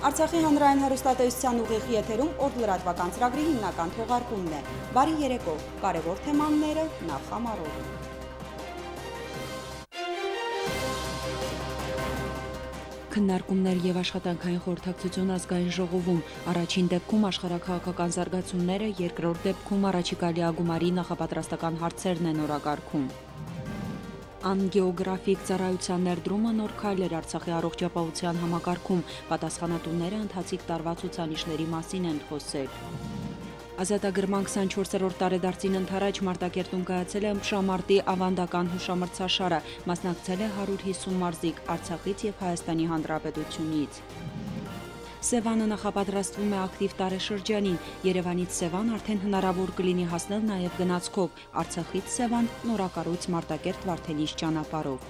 Արցախի հանրային հեռուստատեսության ուղիղ եթերում օր լրատվական ծրագրի հիմնական թողարկումն է։ Բարի երեկո, կարևոր թեմաները նախ համարով։ Քննարկումներ եւ աշխատանքային խորհրդակցություն ազգային ժողովում, առաջին դեպքում աշխարհաքաղաքական զարգացումները, երկրորդ դեպքում առաջիկա լիագումարի նախապատրաստական հարցերն են օրակարգում։ Անգեոգրաֆիկ ծառայության ներդրումը նոր քայլ էր Արցախի առողջապահության համակարգում, պատասխանատուները ընթացիկ տարվա ցուցանիշների մասին են խոսել։ Ազատագրման 24-րդ տարեդարձին ընթരാճ Մարտակերտում կայացել է ըմբշամարտի ավանդական հուշամրցաշարը, մասնակցել է 150 մարզիկ Արցախից եւ Հայաստանի Հանրապետությունից։ Սևանը նախապատրաստվում է ակտիվ տարեշրջանին, Երևանից Սևան արդեն հնարավոր կլինի հասնել նաև գնացքով, Արցախից Սևան նորակառույց Մարտակերտ Վարդենիս ճանապարհով։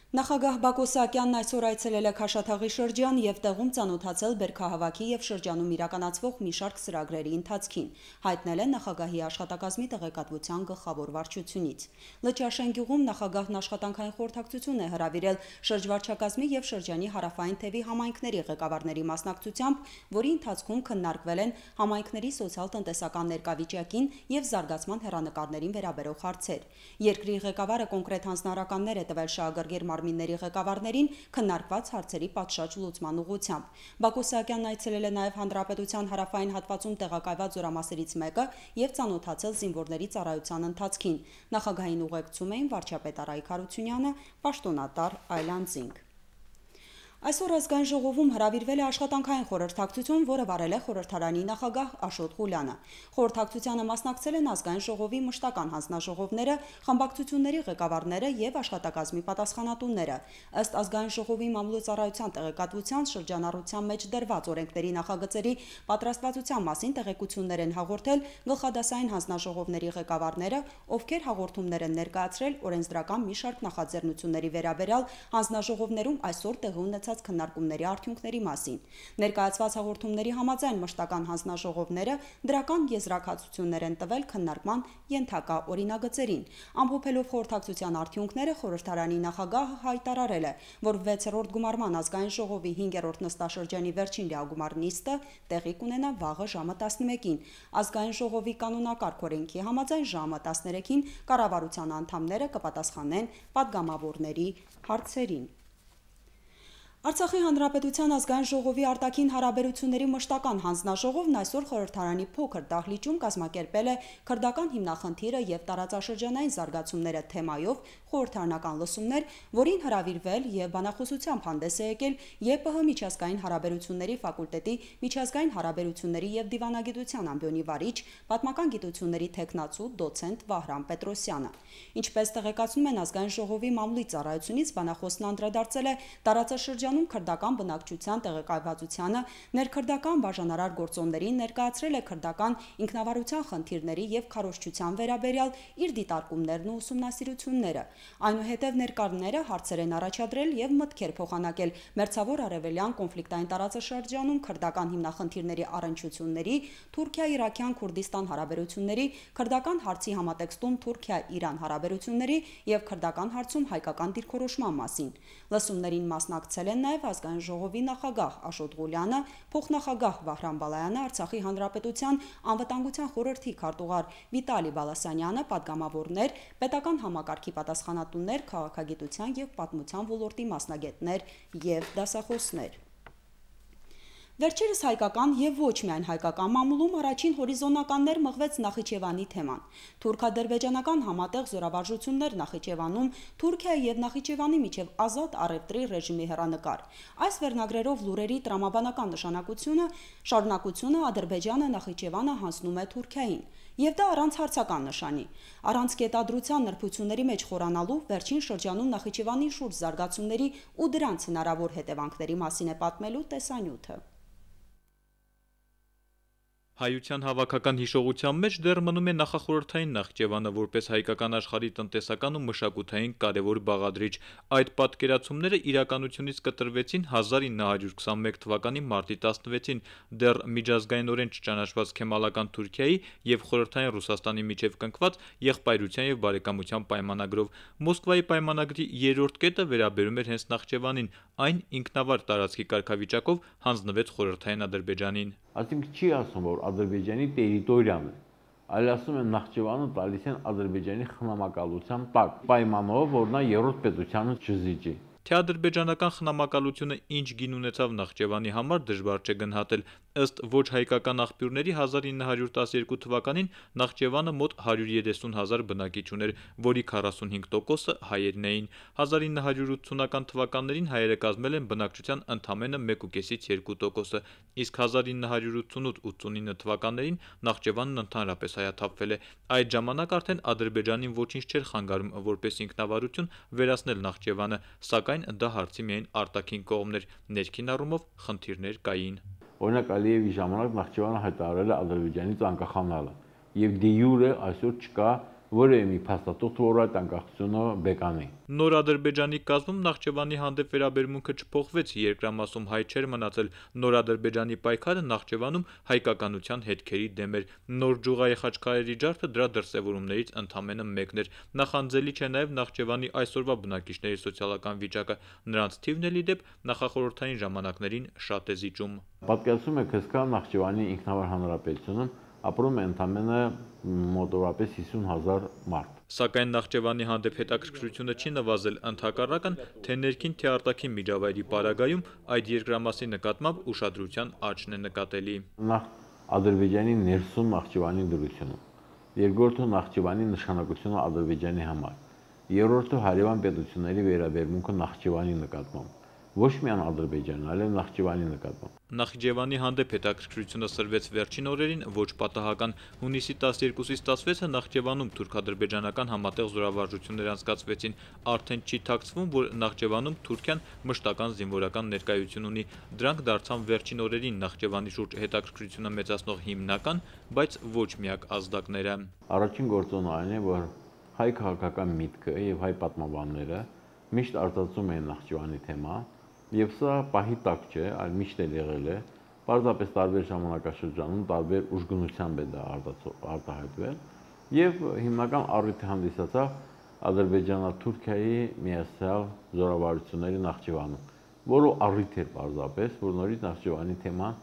Նախագահ Բակո Սահակյանն այսօր այցելել է Քաշաթաղի շրջան եւ տեղում ծանոթացել բերքահավաքի եւ շրջանում իրականացվող մի շարք ծրագրերի ընթացքին, հայտնել է նախագահի աշխատակազմի տեղեկատվության գլխավոր վարչությունից։ Լճաշեն գյուղում նախագահն աշխատանքային խորհրդակցություն է հրավիրել շրջվարչակազմի եւ շրջանի հարավային թևի համայնքների ղեկավարների մասնակցությամբ, որի ընթացքում քննարկվել են համայնքների սոցիալ-տնտեսական ներկայավիճակին եւ զարգացման հեռանկարներին վերաբերող հարցեր։ Երկրի ղեկավարը կոնկրետ հանձնարարականներ է տվել շահագրգիռ մարմինների ղեկավարներին քննարկված հարցերի պատշաճ լուծման ուղղությամբ։ Բակո Սահակյանն այցելել է նաև Հանրապետության հարավային հատվածում տեղակայված զորամասերից մեկը եւ ծանոթացել զինվորների ծառայության ընթացքին։ Նախագահային ուղեկցում էին վարչապետ Արայիկ Հարությունյանը, պաշտոնատար Այլանդզինգ։ Այսօր ազգային ժողովում հրավիրվել է աշխատանքային խորհրդակցություն, որը վարել է խորհրդարանի նախագահ Աշոտ Ղուլյանը։ Խորհրդակցությանը մասնակցել են ազգային ժողովի մշտական հանձնաժողովները, խմբակցությունների ղեկավարները եւ աշխատակազմի պատասխանատուները։ Ըստ ազգային ժողովի մամլոյցարայության տեղեկատվության շրջանառության մեջ դրված օրենքների նախագծերի պատրաստվածության մասին տեղեկություններ են հաղորդել գլխադասային հանձնաժողովների ղեկավարները, ովքեր հաղորդումներ են ներկայացրել օրենսդրական մի շարք նախաձեռնությունների վերաբերյալ հանձնաժողովներում այսօր տեղի ունեցած քննարկումների արդյունքների մասին։ Ներկայացված հաղորդումների համաձայն մշտական հանձնաժողովները դրական եզրակացություններ են տվել քննարկման ենթակա օրինագծերին։ Ամփոփելով խորհրդակցության արդյունքները, խորհրդարանի նախագահը հայտարարել է, որ 6-րդ գումարման ազգային ժողովի 5-րդ նստաշրջանի վերջին լիագումար նիստը տեղի կունենա վաղը ժամը 11-ին։ Ազգային ժողովի կանոնակարգ օրենքի համաձայն ժամը 13-ին կառավարության անդամները կպատասխանեն падգամավորների հարցերին։ Արցախի հանրապետության ազգային ժողովի արտաքին հարաբերությունների մշտական հանձնաժողովն այսօր խորհրդարանի փոքր դահլիճում կազմակերպել է քրդական հիմնախնդիրը եւ տարածաշրջանային զարգացումները թեմայով խորհրդարանական լսումներ, որին հրավիրվել եւ բանախոսությամբ հանդես է եկել ԵՊՀ միջազգային հարաբերությունների ֆակուլտետի միջազգային հարաբերությունների եւ դիվանագիտության ամբիոնի վարիչ, պատմական գիտությունների թեկնածու դոցենտ Վահրամ Պետրոսյանը։ Ինչպես տեղեկացնում են ազգային ժողովի մամլոյ ծառայությունից, բանախոսն անդրադարձել է տարածաշրջանում քրդական բնակչության տեղեկայվածությանը, ներքրդական բաժանարար գործոններին, ներկայացրել է քրդական ինքնավարության խնդիրների եւ քարոզչության վերաբերյալ իր դիտարկումներն ու ուսումնասիրությունները։ Այնուհետև ներկայացնողները հարցեր են առաջադրել եւ մտքեր փոխանակել Մերձավոր Արևելյան կոնֆլիկտային տարածաշրջանում քրդական հիմնախնդիրների առնչությունների, Թուրքիա-Իրաքյան Քուրդիստան հարաբերությունների, քրդական հարցի համատեքստում Թուրքիա-Իրան հարաբերությունների եւ քրդական հարցում հայկական դիրքորոշման մասին։ Լսումներին մասնակցել են նաև ազգային ժողովի նախագահ Աշոտ Ղուլյանը, փոխնախագահ Վահրամ Բալայանը, Արցախի հանրապետության անվտանգության խորհրդի քարտուղար Վիտալի Բալասանյանը, падգամավորներ, պետական համակարգի պատասխանատուներ, քաղաքագիտության եւ պատմության ոլորտի մասնագետներ եւ դասախոսներ։ Վերջերս հայկական եւ ոչ միայն հայկական մամուլում առաջին հորիզոնականներ մղվեց Նախիջևանի թեման։ Թուրքա-ադրբեջանական համատեղ զորավարժություններ Նախիջևանում, Թուրքիայի եւ Նախիջևանի միջև ազատ առևտրի ռեժիմի հեռանկար։ Այս վերնագրերով լուրերի տրամաբանական շարունակությունը Ադրբեջանը Նախիջևանը հանձնում է Թուրքիային։ Եվ դա առանց հարցական նշանի։ Առանց կետադրության նրբությունների մեջ խորանալու վերջին շրջանում Նախիջևանի շուրջ զարգացումների ու դրանց հնարավոր հետևանքների մասին է պատմելու տեսանյութը։ Հայության հավաքական հիշողության մեջ դեռ մնում է նախախորհրդային Նախճեվանը որպես հայկական աշխարհի տնտեսական ու մշակութային կարևոր բաղադրիչ։ Այդ պատկերացումները իրականությունից կտրվեցին 1921 թվականի մարտի 16-ին դեռ միջազգայինորեն չճանաչված Քեմալական Թուրքիայի եւ խորհրդային Ռուսաստանի միջև կնքված եղբայրության եւ բարեկամության պայմանագրով։ Մոսկվայի պայմանագրի երրորդ կետը վերաբերում էր հենց Նախճեվանին, այն ինքնավար տարածքի կարգավիճակով հանձնվեց խորհրդային Ադրբեջանին։ Այսինքն չի ասում, որ Ադրբեջանի տերիտորիան է, այլ ասում են Նախճեվանը տալիս են Ադրբեջանի խնամակալության տակ, պայմանով, որ նա երրորդ պետությանը չզիջի։ Թե ադրբեջանական խնամակալությունը ինչ գին ունեցավ Նախճեվանի համար դժվար չէ գնահատել։ Ըստ ոչ հայկական աղբյուրների 1912 թվականին Նախճեվանը մոտ 130,000 բնակիչ ուներ, որի 45%-ը հայերն էին։ 1980-ական թվականներին հայերը կազմել են բնակչության ընդամենը 1,5-ից 2%-ը, իսկ 1988-89 թվականներին Նախճեվանն ընդհանրապես հայաթափվել է։ Այդ ժամանակ արդեն Ադրբեջանին ոչինչ չէր խանգարում որպես ինքնավարություն վերացնել Նախճեվանը, սակայն դա հարցի միայն արտաքին կողմն էր, ներքին առումով խնդիրներ կային։ Օրինակ Ալիևի ժամանակ Նախճեվանը հայտարարել է Ադրբեջանից անկախանալը, եւ դե յուրե այսօր չկա որևէ մի փաստաթուղթ, որ այդ անկախությունը բեկանի։ Նոր Ադրբեջանի կազմում Նախճեվանի հանդեպ վերաբերմունքը չփոխվեց, երկրամասում հայ չէր մնացել։ Նոր Ադրբեջանի պայքարը Նախճեվանում հայկականության հետքերի դեմ էր։ Նոր Ջուղայի խաչքարերի ջարդը դրա դրսևորումներից ընդամենը մեկն էր։ Նախանձելի չէ նաև Նախճեվանի այսօրվա բնակիչների սոցիալական վիճակը։ Նրանց թիվն էլ ի դեպ նախախորհրդային ժամանակներին շատ է զիջում։ Պատկերացնում եք, հսկա Նախճեվանի ինքնավար հանրապետությունում ապրում է ընդամենը մոտավորապես 50,000 մարդ։ Սակայն Նախճեվանի հանդեպ հետաքրքրությունը չի նվազել, ընդհակառակն, թե ներքին, թե արտաքին միջավայրի պարագայում այդ երկրամասի նկատմամբ ուշադրության աճն է նկատելի։ Նախ Ադրբեջանի ներսում Նախճեվանի դրությունը, երկրորդը Նախճեվանի նշանակությունը Ադրբեջանի համար, երրորդը հարևան պետությունների վերաբերմունքը Նախճեվանի նկատմամբ, ոչ միայն Ադրբեջանի, այլև Նախճեվանի նկատմամբ։ Նախճեվանի հանդեպ հետաքրքրությունը սրվեց վերջին օրերին ոչ պատահական։ Հունիսի 12-ից 16-ը Նախճեվանում թուրք-ադրբեջանական համատեղ զորավարժություններ անցկացվեցին։ Արդեն չի թաքցվում, որ Նախճեվանում Թուրքիան մշտական զինվորական ներկայություն ունի։ Դրանք դարձան վերջին օրերին Նախճեվանի շուրջ հետաքրքրությունը մեծացնող հիմնական, բայց ոչ միակ ազդակները։ Առաջին գործոնը այն է, որ հայ քաղաքական միտքը եւ հայ պատմաբանները միշտ արտացում են Նախճեվանի թեման, եւ սա պահի տակ չէ, այլ միշտ էլ եղել է, պարզապես տարբեր ժամանակաշրջանում տարբեր ուժգնությամբ է դա արտահայտվել եւ հիմնական առիթը հանդիսացավ Ադրբեջանա-Թուրքիայի միացյալ զորավարությունների Նախճեվանում, որը առիթ էր պարզապես, որ նորից Նախճեվանի թեման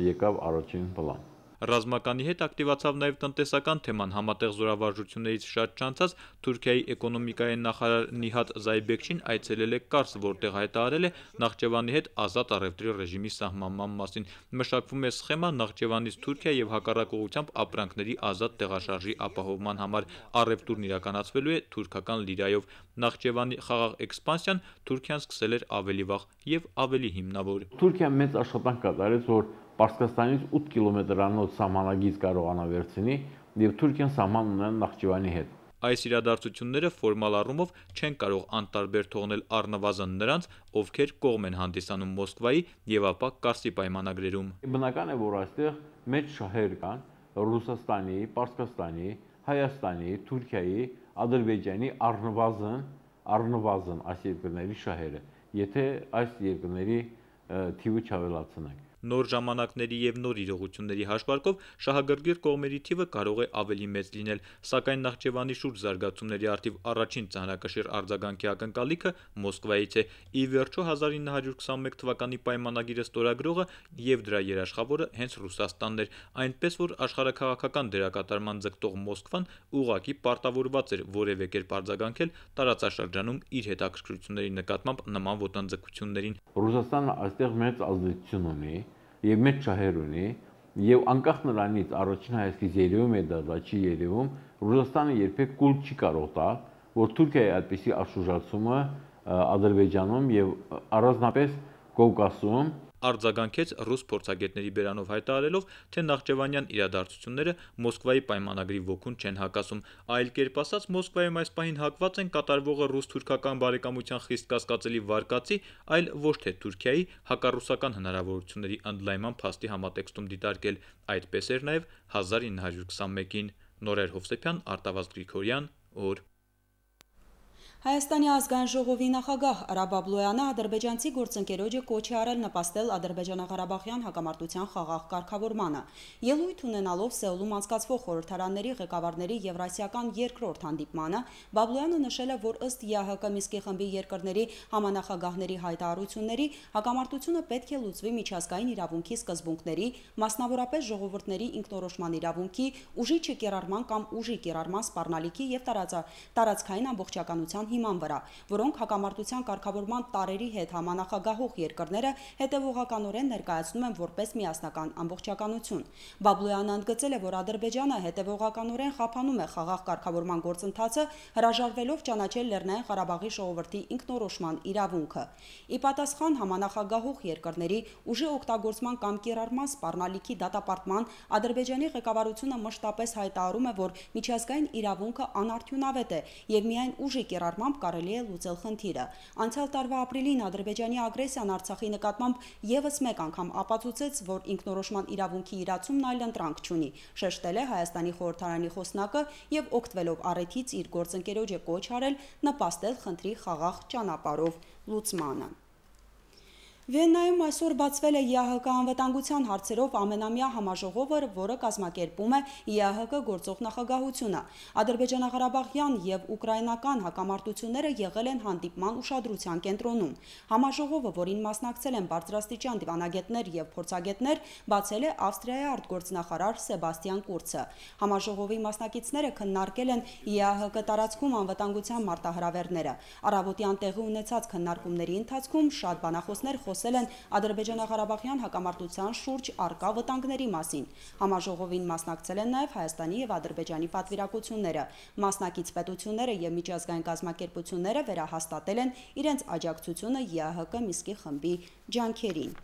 եկավ առաջին պլան։ Ռազմականի հետ ակտիվացավ նաև տնտեսական թեման։ Համատեղ զորավարժություններից շատ չանցած Թուրքիայի էկոնոմիկայի նախարար Նիհատ Զայբեկչին այցելել է Կարս, որտեղ հայտարարել է Նախճեվանի հետ ազատ առևտրի ռեժիմի սահմանման մասին։ Մշակվում է սխեմա Նախճեվանից Թուրքիա եւ հակառակ ուղղությամբ ապրանքների ազատ տեղաշարժի ապահովման համար։ Առևտուրն իրականացվելու է թուրքական լիրայով։ Նախճեվանի խաղաղ էքսպանսիան Թուրքիան սկսել էր ավելի վաղ եւ ավելի հիմնավոր։ Թուրքիան մեծ աշխատանք կատարեց, որ Պարսկաստանից 8 կիլոմետրանոց սահմանագիծ կարողանա վերցնի եւ Թուրքիան սահման ունեն Նախճեվանի հետ։ Այս իրադարձությունները ֆորմալ առումով չեն կարող անտարբեր թողնել առնվազն նրանց, ովքեր կողմ են հանդիսանում Մոսկվայի եւ ապա Կարսի պայմանագրերում։ Բնական է, որ այստեղ մեծ շահեր կան Ռուսաստանի, Պարսկաստանի, Հայաստանի, Թուրքիայի, Ադրբեջանի առնվազն այս երկրների շահերը, եթե այս երկրների թիվը չավելացնենք։ Նոր ժամանակների եւ նոր իրողությունների հաշվարկով շահագրգիռ կողմերի թիվը կարող է ավելի մեծ լինել, սակայն Նախճեվանի շուրջ զարգացումների արդիվ առաջին ծանրակշիռ արձագանքի ակնկալիքը Մոսկվայից է։ Ի վերջո 1921 թվականի պայմանագիրը ստորագրողը եւ դրա երաշխավորը հենց Ռուսաստանն էր, այնպես որ աշխարհաքաղաքական դերակատարման ձգտող Մոսկվան ուղղակի պարտավորված էր որևէ կերպ արձագանքել տարածաշրջանում իր հետաքրքրությունների նկատմամբ նման ոտնձգություններին։ Ռուսաստանը այստեղ մեծ ազդեցություն ունի եւ մեծ շահեր ունի եւ անկախ նրանից առաջին հայացքից երևում է դա չի երևում, Ռուսաստանը երբեք կուլ չի կարող տալ, որ Թուրքիայի այդպիսի աշխուժացումը Ադրբեջանում եւ առանձնապես Կովկասում արձագանքեց ռուս փորձագետների բերանով հայտարարելով, թե նախճեվանյան իրադարձությունները Մոսկվայի պայմանագրի ոգուն չեն հակասում, այլ կերպ ասած Մոսկվայում այս պահին հակված են կատարվողը ռուս-թուրքական բարեկամության խիստ կասկածելի վարկածի, այլ ոչ թե Թուրքիայի հակառուսական հնարավորությունների ընդլայնման փաստի համատեքստում դիտարկել, այդպես էր նաև 1921-ին։ Նորեր Հովսեփյան, Արտավազդ Գրիգորյան, օր։ Հայաստանի ազգային ժողովի նախագահ Արա Բաբլոյանը ադրբեջանցի գործընկերոջը կոչ է արել նպաստել ադրբեջանա-ղարաբաղյան հակամարտության խաղաղ կարգավորմանը։ Ելույթ ունենալով Սեուլում անցկացվող խորհրդարանների ղեկավարների Եվրասիական երկրորդ հանդիպմանը, Բաբլոյանը նշել է, որ ըստ ԵԱՀԿ Մինսկի խմբի երկրների համանախագահների հայտարարությունների, հակամարտությունը պետք է լուծվի միջազգային իրավունքի սկզբունքների, մասնավորապես ժողովուրդների ինքնորոշման իրավունքի, ուժի չկիրառման կամ ուժի կիրառման սպառնալիքի եւ տարածքային ամբողջականության հիման վրա, որոնք հակամարտության կարգավորման տարերի հետ համանախագահող երկրները հետևողականորեն ներկայացնում են որպես միասնական ամբողջականություն։ Բաբլոյանը ընդգծել է, որ Ադրբեջանը հետևողականորեն խափանում է խաղաղ կարգավորման գործընթացը, հրաժարվելով ճանաչել Լեռնային Ղարաբաղի ժողովրդի ինքնորոշման իրավունքը։ Ի պատասխան համանախագահող երկրների ուժի օգտագործման կամ կիրառման սպառնալիքի դատապարտման, Ադրբեջանի ղեկավարությունը մշտապես հայտարարում է, որ միջազգային իրավունքը անարդյունավետ է եւ միայն ուժի կիրառմամբ կարելի է լուծել խնդիրը։ Անցյալ տարվա ապրիլին Ադրբեջանի ագրեսիան Արցախի նկատմամբ եւս մեկ անգամ ապացուցեց, որ ինքնորոշման իրավունքի իրացումն այլընտրանք չունի, շեշտել է Հայաստանի խորհրդարանի խոսնակը եւ օգտվելով առիթից իր գործընկերոջը կոչ արել նպաստել խնդրի խաղաղ ճանապարհով լուծմանը։ Վիեննայում այսօր բացվել է ԵԱՀԿ անվտանգության հարցերով ամենամյա համաժողովը, որը կազմակերպում է ԵԱՀԿ գործող նախագահությունը։ Ադրբեջանա-ղարաբաղյան եւ ուկրաինական հակամարտությունները եղել են հանդիպման ուշադրության կենտրոնում։ Համաժողովը, որին մասնակցել են բարձրաստիճան դիվանագետներ եւ փորձագետներ, բացել է Ավստրիայի արտգործնախարար Սեբաստիան Կուրցը։ Համաժողովի մասնակիցները քննարկել են ԵԱՀԿ տարածքում անվտանգության մարտահրավերները։ Առավոտյան տեղի ունեցած քննարկումների ընթացքում շատ բանախոսներ խոսել են Ադրբեջանա-ղարաբաղյան հակամարտության շուրջ առկա վտանգների մասին։ Համաժողովին մասնակցել են նաև Հայաստանի եւ Ադրբեջանի պատվիրակությունները։ Մասնակից պետությունները եւ միջազգային կազմակերպությունները վերահաստատել են իրենց աջակցությունը ԵԱՀԿ Մինսկի խմբի ջանքերին։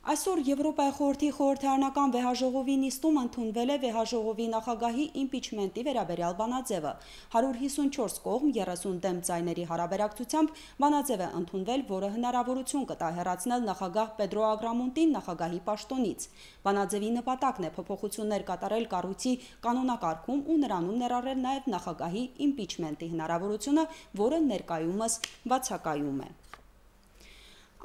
Այսօր Եվրոպայի խորհրդի խորհրդարանական վեհաժողովի նիստում ընդունվել է վեհաժողովի նախագահի իմպիչմենտի վերաբերյալ բանաձևը։ 154 կողմ 30 դեմ ձայների հարաբերակցությամբ բանաձև է ընդունվել, որը հնարավորություն կտա հեռացնել նախագահ Պեդրո Ագրամոնտին նախագահի պաշտոնից։ Բանաձևի նպատակն է փոփոխություններ կատարել կառույցի կանոնակարգում ու նրանում ներառել նաև նախագահի իմպիչմենտի հնարավորությունը, որը ներկայումս բացակայում է։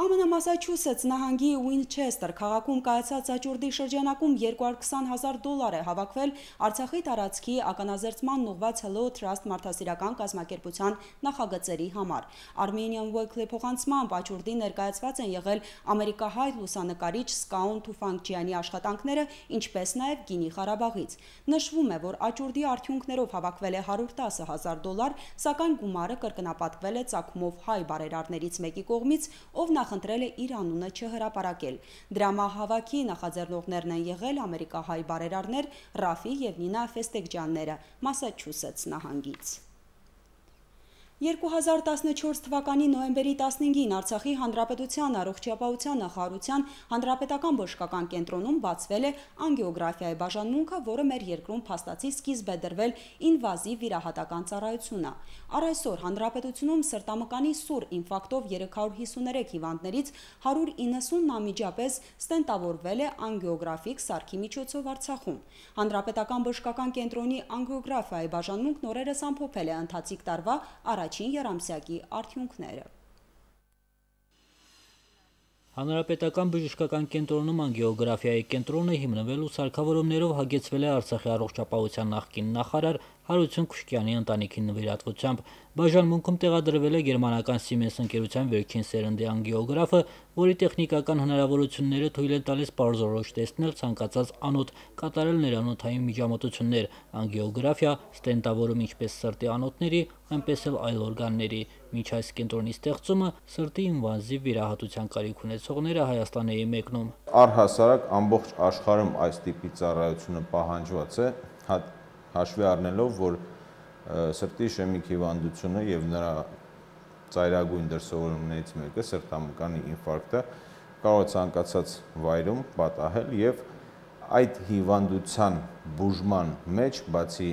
ԱՄՆ Մասաչուսեթս նահանգի Ուինչեսթեր քաղաքում կայացած աճուրդի շրջանակում $220,000 է հավաքվել Արցախի տարածքի ականազերծման ուղղված Hello Trust մարդասիրական կազմակերպության նախագծերի համար։ Armenian Weekly փոխանցմամբ աճուրդի ներկայացված են եղել ամերիկահայ լուսանկարիչ Սկաուն Թուֆանգջյանի աշխատանքները, ինչպես նաև Գինի Ղարաբաղից։ Նշվում է, որ աճուրդի արդյունքներով հավաքվել է $110,000, սակայն գումարը կրկնապատկվել է ծագումով հայ բարերարներից մեկի կողմից, ով նախընտրել է իր անունը չհրապարակել։ Դրամահավաքի նախաձեռնողներն են եղել ամերիկահայ բարերարներ Ռաֆի եւ Նինա Ֆեստեգջյանները Մասաչուսեթս նահանգից։ 2014 թվականի նոյեմբերի 15-ին Արցախի Հանրապետության առողջապահության նախարարության հանրապետական բժշկական կենտրոնում բացվել է անգիոգրաֆիայի բաժանմունքը, որը մեր երկրում փաստացի սկիզբ է դրվել ինվազիվ վիրահատական ծառայությունա։ Առ այսօր հանրապետությունում սրտամկանի սուր ինֆարկտով 353 հիվանդներից 190-ն անմիջապես ստենտավորվել է անգիոգրաֆիկ սարքի միջոցով Արցախում։ Հանրապետական բժշկական կենտրոնի անգիոգրաֆիայի բաժանմունքն օրերս ամփոփել է ընթացիկ տարվա առաջին երամսյակի արդյունքները։ Հանրապետական բժշկական կենտրոնում անգիոգրաֆիայի կենտրոնը հիմնվել ու սարքավորումներով հագեցվել է Արցախի առողջապահության նախկին նախարար Հարություն Քուշկյանի ընտանիքի նվիրատվությամբ։ Բաժանմունքում տեղադրվել է գերմանական Siemens ընկերության վերջին սերնդի անգիոգրաֆը, որի տեխնիկական հնարավորությունները թույլ են տալիս պարզորոշ տեսնել ցանկացած անոթ, կատարել ներանոթային միջամտություններ, անգիոգրաֆիա, ստենտավորում ինչպես սրտի անոթների, այնպես էլ այլ օրգանների։ Մինչ այս կենտրոնի ստեղծումը սրտի ինվազիվ վիրահատության կարիք ունեցողները Հայաստան էին մեկնում։ Առհասարակ ամբողջ աշխարհում այս տիպի ծառայությունը պահանջված է, հաշվի առնելով, որ սրտի իշեմիկ հիվանդությունը եւ նրա ծայրագույն դրսևորումներից մեկը սրտամկանի ինֆարկտը կարող է ցանկացած վայրում պատահել եւ այդ հիվանդության բուժման մեջ բացի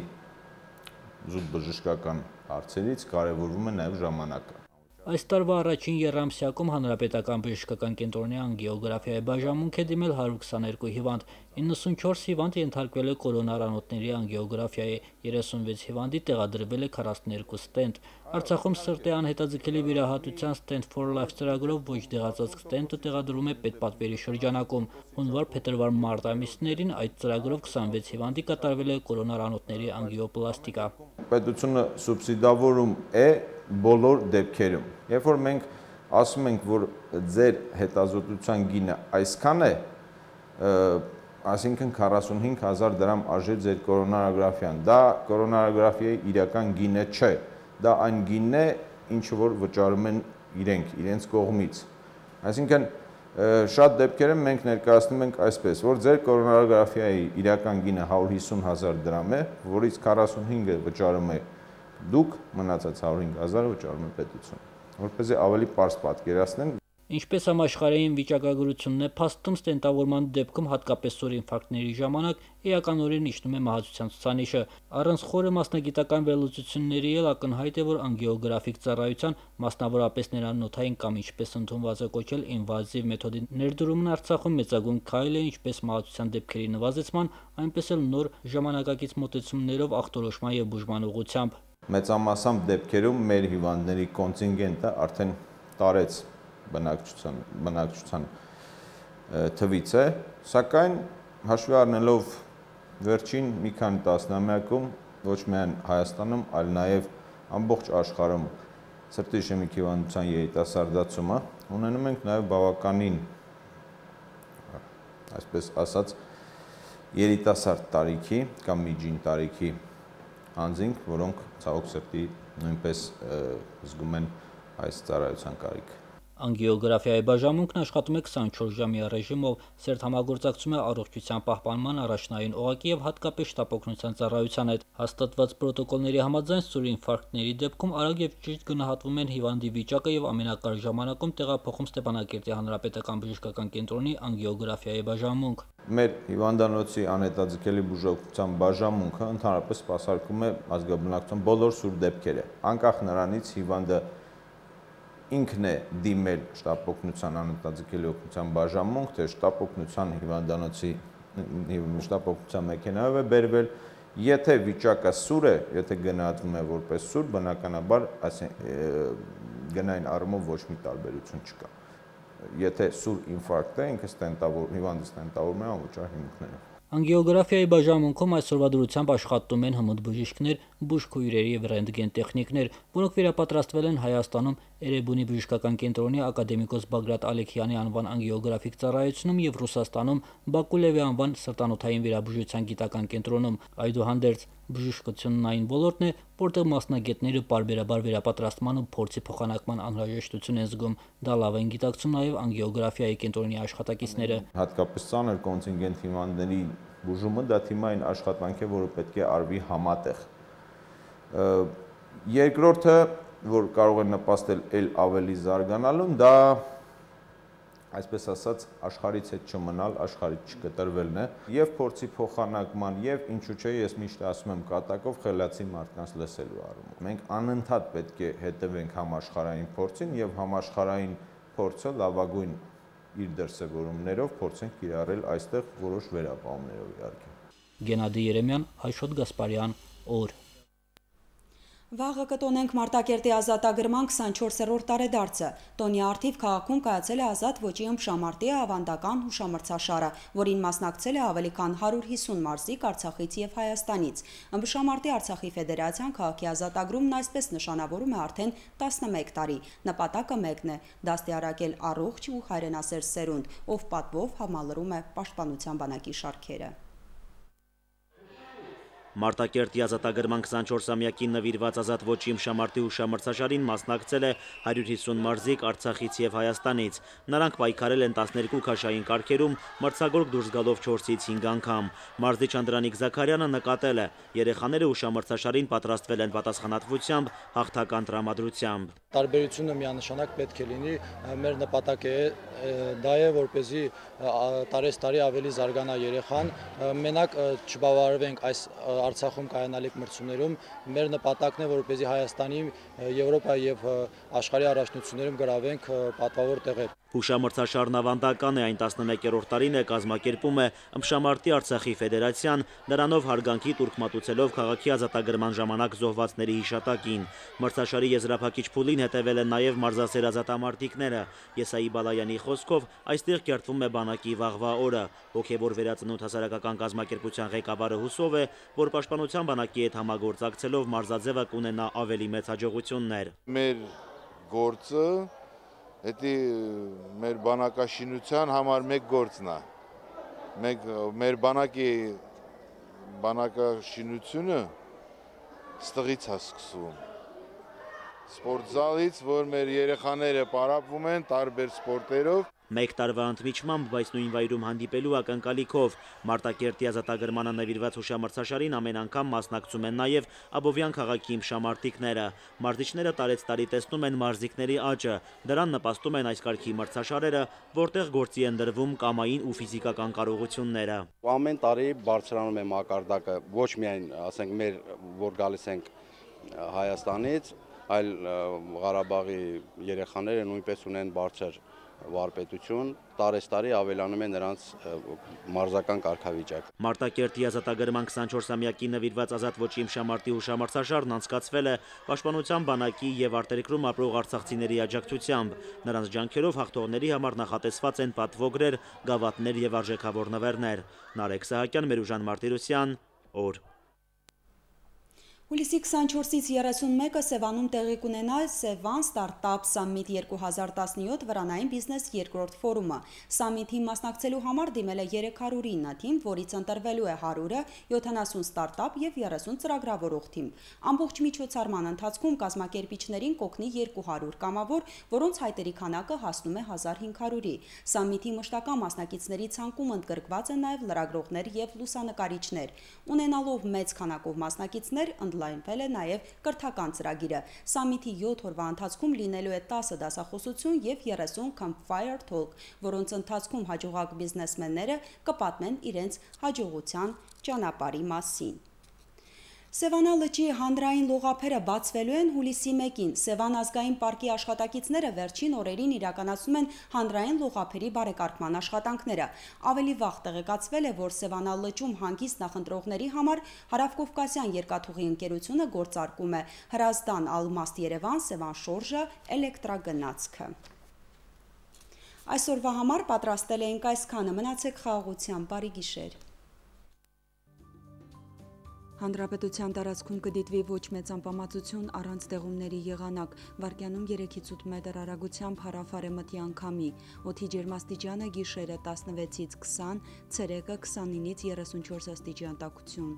զուտ բժշկական հարցերից կարևորվում է նաեւ ժամանակը։ Այս տարվա առաջին եռամսյակում Հանրապետական բժշկական կենտրոնի անգիոգրաֆիայի բաժանմունք է դիմել 122 հիվանդ, 94 հիվանդ ենթարկվել է կորոնարանոթների անգիոգրաֆիայի, 36 հիվանդի տեղադրվել է 42 ստենտ։ Արցախում սրտի անհետաձգելի վիրահատության Stent for Life ծրագրով ոչ դեղացած ստենտը տեղադրվում է պետպատվերի շրջանակում։ Հունվար-փետրվար-մարտ ամիսներին այդ ծրագրով 26 հիվանդի կատարվել է կորոնարանոթների անգիոպլաստիկա։ Պետությունը սուբսիդավորում է բոլոր դեպքերում։ Երբ որ մենք ասում ենք, որ ձեր հետազոտության գինը այսքան է, այսինքն 45,000 դրամ արժե ձեր կորոնարոգրաֆիան, դա կորոնարոգրաֆիայի իրական գինը չէ, դա այն գինն է, ինչը որ վճարում են իրենց կողմից։ Այսինքն շատ դեպքերում մենք ներկայացնում ենք այսպես, որ ձեր կորոնարոգրաֆիայի իրական գինը 150,000 դրամ է, որից 45-ը վճարում է դուք, մնացած 105,000-ը վճարում է պետությունը, որպեսզի ավելի պարզ պատկերացնեն։ Ինչպես համաշխարհային վիճակագրությունն է փաստում, ստենտավորման դեպքում հատկապես սուր ինֆարկտների ժամանակ էականորեն իջնում է մահացության ցուցանիշը։ Առանց խորը մասնագիտական վերլուծությունների էլ ակնհայտ է, որ անգիոգրաֆիկ ծառայության, մասնավորապես ներանոթային կամ ինչպես ընդունված է կոչել ինվազիվ մեթոդի ներդրումն Արցախում մեծագույն քայլ է ինչպես մահացության դեպքերի նվազեցման, այնպես էլ նոր ժամանակակից մոտեցումներով ախտորոշման եւ բուժման ուղղությամբ։ Մեծամասամբ դեպքերում մեր հիվանդների կոնտինգենտը արդեն տարեց բնակչության թվից է, սակայն հաշվի առնելով վերջին մի քանի տասնամյակում ոչ միայն Հայաստանում, այլ նաև ամբողջ աշխարհում սրտի իշեմիկ հիվանդության երիտասարդացումը, ունենում ենք նաև բավականին, այսպես ասած, երիտասարդ տարիքի կամ միջին տարիքի անձինք, որոնք ցավոք սրտի նույնպես զգում են այս ծառայության կարիքը։ Անգիոգրաֆիայի բաժանմունքն աշխատում է 24 ժամյա ռեժիմով, սերտ համագործակցում է առողջության պահպանման առաջնային օղակի եւ հատկապես շտապօգնության ծառայության հետ։ Հաստատված պրոտոկոլների համաձայն սուր ինֆարկտների դեպքում արագ եւ ճիշտ գնահատվում են հիվանդի վիճակը եւ ամենակարճ ժամանակում տեղափոխում Ստեփանակերտի հանրապետական բժշկական կենտրոնի անգիոգրաֆիայի բաժանմունք։ Մեր հիվանդանոցի անհետաձգելի բուժօգնության բաժանմունքը ընդհանրապես սպասարկում է ազգաբնակչության բոլոր սուր դեպքերը, անկախ նրանից հիվանդը ինքն է դիմել շտապօգնության անհետաձգելի օգնության բաժանմունք, թե շտապօգնության հիվանդանոցի շտապօգնության մեքենայով է բերվել, եթե վիճակը սուր է, եթե գնահատվում է որպես սուր, բնականաբար գնային առումով ոչ մի տարբերություն չկա։ Եթե սուր ինֆարկտ է, ինքը հիվանդը ստենտավորվում է անվճար հիմունքներով։ Անգիոգրաֆիայի բաժանմունքում այսօրվա դրությամբ աշխատում են հմուտ բժիշկներ, բուժքույրերի եւ ռենտգեն տեխնիկներ, որոնք վերապատրաստվել են Հայաստանում Էրեբունի բժշկական կենտրոնի ակադեմիկոս Բագրատ Ալեքյանի անվան անգիոգրաֆիկ ծառայությունում եւ Ռուսաստանում Բակու Լևի անվան սրտանոթային վիրաբուժության գիտական կենտրոնում։ Այդուհանդերձ բժշկությունն այն ոլորտն է, որտեղ մասնագետները պարբերաբար վերապատրաստման ու փորձի փոխանակման անհրաժեշտություն են զգում։ Դա լավ են գիտակցում նաեւ անգիոգրաֆիայի կենտրոնի աշխատակիցները։ Հատկապես ծանր կոնտինգենտ հիվանդների բուժումը դա թիմային աշխատանք է, որը պետք է արվի համատեղ։ Երկրորդը, որ կարող է նպաստել էլ ավելի զարգանալուն, դա այսպես ասած աշխարհից հետ չմնալ, աշխարհից չկտրվելն է, եւ փորձի փոխանակման, եւ ինչու՞ չէ, ես միշտ ասում եմ կատակով խելացի մարդկանց լսելու առումով։ Մենք անընդհատ պետք է հետևենք համաշխարհային փորձին եւ համաշխարհային փորձը լավագույն իր դրսևորումներով փորձենք կիրառել այստեղ որոշ վերապահումներով իհարկե։ Գենադի Երեմյան, Աշոտ Գասպարյան, օր։ Վաղը կտոնենք Մարտակերտի ազատագրման 24-րդ տարեդարձը։ Տոնի առթիվ քաղաքում կայացել է ազատ ոճի ըմբշամարտի ավանդական հուշամրցաշարը, որին մասնակցել է ավելի քան 150 մարզիկ Արցախից եւ Հայաստանից։ Ըմբշամարտի Արցախի ֆեդերացիան քաղաքի ազատագրումն այսպես նշանավորում է արդեն 11 տարի։ Նպատակը մեկն է՝ դաստիարակել առողջ ու հայրենասեր սերունդ, ով պատվով համալրում է պաշտպանության բանակի շարքերը։ Մարտակերտի ազատագրման 24-ամյակին նվիրված ազատ ոճի ըմբշամարտի հուշամրցաշարին մասնակցել է 150 մարզիկ Արցախից եւ Հայաստանից։ Նրանք պայքարել են 12 քաշային կարգերում, մրցագորգ դուրս գալով 4-ից 5 անգամ։ Մարզիչ Անդրանիկ Զաքարյանը նկատել է՝ երեխաները հուշամրցաշարին պատրաստվել են պատասխանատվությամբ, հաղթական տրամադրությամբ։ Տարբերությունը միանշանակ պետք է լինի, մեր նպատակը է դա է, որպեսզի տարեստարի ավելի զարգանա երեխան, մենակ չբավարարվենք այս Արցախում կայանալիք մրցումներում, մեր նպատակն է, որպեսզի Հայաստանի, Եվրոպայի եւ աշխարհի առաջնություններում գրավենք պատվավոր տեղեր։ Հուշամրցաշարն ավանդական է, այն 11-րդ տարին է կազմակերպում է ըմբշամարտի Արցախի ֆեդերացիան, նրանով հարգանքի տուրք մատուցելով քաղաքի ազատագրման ժամանակ զոհվածների հիշատակին։ Մրցաշարի եզրափակիչ փուլին հետևել են նաև մարզասեր ազատամարտիկները։ Եսայի Բալայանի խոսքով այստեղ կերտվում է բանակի վաղվա օրը։ Հոգևոր վերածնունդ հասարակական կազմակերպության ղեկավարը հուսով է, որ պաշտպանության բանակի հետ համագործակցելով մարզաձևը կունենա ավելի մեծ հաջողություններ։ Մեր գործը Դա մեր բանակաշինության համար մեկ գործն է։ Մեր բանակաշինությունը ստղից է սկսվում։ Սպորտզալից, որ մեր երեխաները պարապվում են տարբեր սպորտերով։ Մեկ տարվա ընդմիջմամբ, բայց նույն վայրում հանդիպելու ակնկալիքով Մարտակերտի ազատագրմանը նվիրված հուշամրցաշարին ամեն անգամ մասնակցում են նաև Աբովյան քաղաքի իմշամարտիկները։ Մարզիչները տարեցտարի տեսնում են մարզիկների աճը, դրան նպաստում են այս կարգի մրցաշարերը, որտեղ գործի են դրվում կամային ու ֆիզիկական կարողությունները։ Ամեն տարի բարձրանում է մակարդակը, ոչ միայն, ասենք, մեր որ գալիս ենք Հայաստանից, այլ Ղարաբաղի երեխաները նույնպես ունեն բարձր վարպետություն, տարեստարի ավելանում է նրանց մարզական կարգավիճակ։ Մարտակերտի ազատագրման 24-ամյակի նվիրված ազատ ոճի իմշամարտի հուշամրցաշարն անցկացվել է Պաշտպանության բանակի եւ արտերկրում ապրող արցախցիների աջակցությամբ։ Նրանց ջանքերով հաղթողների համար նախատեսված են պատվոգրեր, գավաթներ եւ արժեքավոր նվերներ։ Նարեկ Սահակյան, Մերուժան Մարտիրոսյան, օր։ Հուլիսի 24-ից 31-ը Սևանում տեղի կունենա Սևան Ստարտափ Սամիթ 2017 վրանային բիզնես երկրորդ ֆորումը։ Սամիթին մասնակցելու համար դիմել է 309 թիմ, որից ընտրվելու է 100-ը, 70 ստարտափ եւ 30 ծրագրավորող թիմ։ Ամբողջ միջոցառման ընթացքում կազմակերպիչներին կօգնի 200 կամավոր, որոնց հայտերի քանակը հասնում է 1500-ի։ Սամիթի մշտական մասնակիցների ցանկում ընդգրկված են նաեւ լրագրողներ եւ լուսանկարիչներ։ Ունենալով մեծ քանակով մասնակիցներ ընդլայնվել է նաև կրթական ծրագիրը։ Սամիթի 7 օրվա ընթացքում լինելու է 10 դասախոսություն եւ 30 Campfire Talk, որոնց ընթացքում հաջողակ բիզնեսմենները կպատմեն իրենց հաջողության ճանապարհի մասին։ Սևանա լճի հանրային լողափերը բացվելու են հուլիսի 1-ին։ Սևան ազգային պարկի աշխատակիցները վերջին օրերին իրականացնում են հանրային լողափերի բարեկարգման աշխատանքները։ Ավելի վաղ տեղեկացվել է, որ Սևանա լճում հանգիստ նախընտրողների համար Հարավկովկասյան երկաթուղի ընկերությունը գործարկում է Հրազդան Ալմաստ Երևան Սևան շորժը էլեկտրագնացքը։ Այսօրվա համար պատրաստել էինք այսքանը, մնացեք խաղաղությամբ, բարի գիշեր։ Հանրապետության տարածքում կդիտվի ոչ մեծ անպամացություն առանց ձեղումների եղանակ, վարկյանում 3-ից 8 մետր արագությամբ հարավ-արևմտյան քամի, օդի ջերմաստիճանը գիշերը 16-ից 20, ցերեկը 29-ից 34 աստիճան տաքություն։